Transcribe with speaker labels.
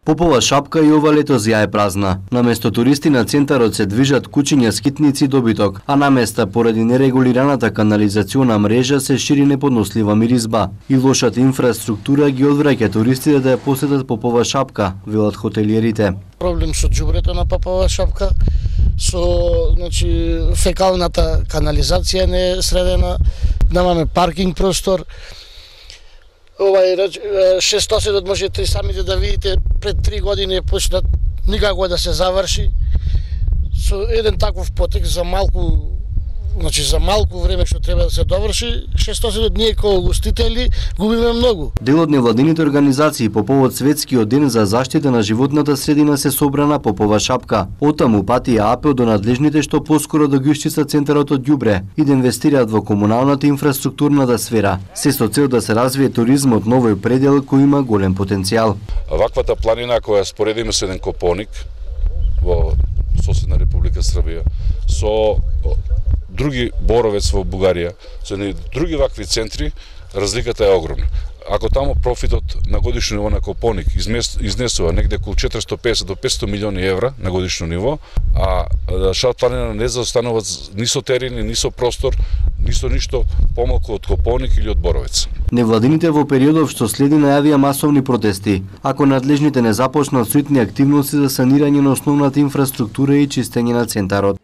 Speaker 1: Попова шапка и ова лето ја е празна. Наместо туристи на центарот се движат кучиња, скитници и добиток, а на места поради нерегулираната канализациона мрежа се шири неподнослива миризба. И лошата инфраструктура ги одвраќа туристите да ја посетат Попова шапка, велат хотелиерите.
Speaker 2: Проблем со џубрето на Попова шапка, со фекалната канализација не е средена, немаме паркинг простор. Шестоседот можете самите да видите, пред 3 години е почнат, никако да се заврши. Со еден таков потек за малку време што треба да се доврши, шестоседот ние како гостители губиме многу.
Speaker 1: Дел од невладините организации по повод Светскиот ден за заштита на животната средина се собра на Попова шапка. Оттаму патија апел до надлежните што поскоро да ги исчистат центарот од ѓубре и да инвестираат во комуналната инфраструктурната сфера, се со цел да се развие туризмот на овој предел кој има голем потенцијал.
Speaker 3: Ваквата планина која споредиме со еден Копоник во соседна Република Србија, со други Боровец во Бугарија, со други вакви центри, разликата е огромна. Ако таму профитот на годишно ниво на Копоник изнесува негде околу 450 до 500 милиони евра на годишно ниво, а Шапка планина не заостанува ни со терени, ни со простор, ни со ништо помалку од Копоник или од Боровец.
Speaker 1: Невладините во периодов што следи најавија масовни протести, ако надлежните не започнат со итни активности за санирање на основната инфраструктура и чистење на центарот.